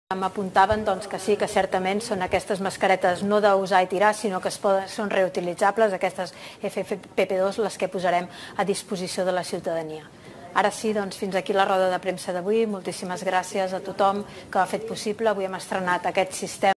M'apuntaven que sí, que certament són aquestes mascaretes no d'usar i tirar, sinó que són reutilitzables, aquestes FFP2, les que posarem a disposició de la ciutadania. Ara sí, fins aquí la roda de premsa d'avui. Moltíssimes gràcies a tothom que ho ha fet possible. Avui hem estrenat aquest sistema